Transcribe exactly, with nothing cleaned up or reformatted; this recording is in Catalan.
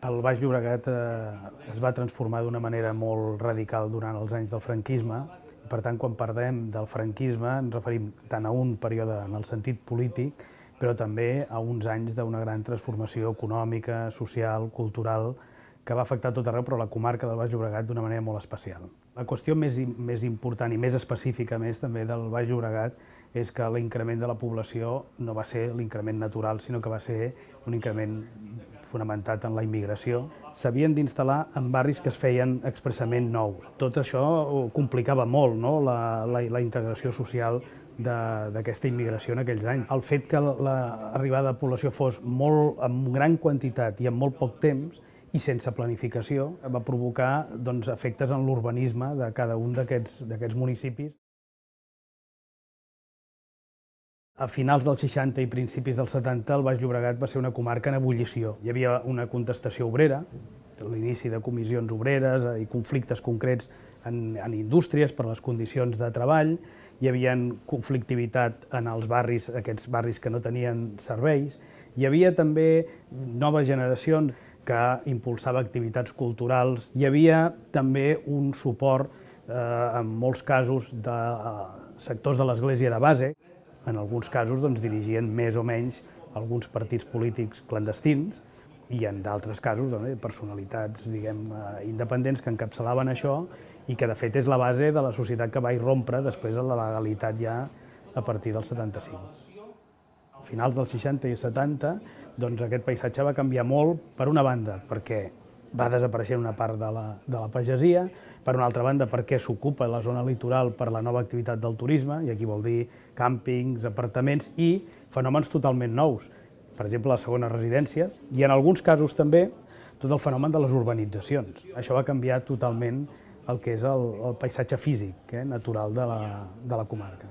El Baix Llobregat eh, es va transformar d'una manera molt radical durant els anys del franquisme. Per tant, quan parlem del franquisme ens referim tant a un període en el sentit polític, però també a uns anys d'una gran transformació econòmica, social, cultural, que va afectar tot arreu, però la comarca del Baix Llobregat d'una manera molt especial. La qüestió més, més important i més específica més també del Baix Llobregat és que l'increment de la població no va ser l'increment natural, sinó que va ser un increment fonamentat en la immigració. S'havien d'instal·lar en barris que es feien expressament nous. Tot això complicava molt, no? la, la, la integració social d'aquesta immigració en aquells anys. El fet que l'arribada de població fos molt, en gran quantitat i en molt poc temps i sense planificació va provocar doncs, efectes en l'urbanisme de cada un d'aquests municipis. A finals dels seixanta i principis dels setanta, el Baix Llobregat va ser una comarca en ebullició. Hi havia una contestació obrera, l'inici de comissions obreres i conflictes concrets en, en indústries per les condicions de treball, hi havia conflictivitat en els barris, aquests barris que no tenien serveis, hi havia també noves generacions que impulsava activitats culturals, hi havia també un suport, eh, en molts casos, de sectors de l'Església de base. En alguns casos doncs, dirigien més o menys alguns partits polítics clandestins i en d'altres casos doncs, personalitats diguem, independents que encapçalaven això i que de fet és la base de la societat que va irrompre després de la legalitat ja a partir del setanta-cinc. A finals dels seixanta i setanta doncs, aquest paisatge va canviar molt per una banda perquè va desaparèixer una part de la, de la pagesia, per una altra banda perquè s'ocupa la zona litoral per la nova activitat del turisme, i aquí vol dir càmpings, apartaments i fenòmens totalment nous, per exemple les segones residències, i en alguns casos també tot el fenomen de les urbanitzacions. Això va canviar totalment el que és el, el paisatge físic, eh, natural de la, de la comarca.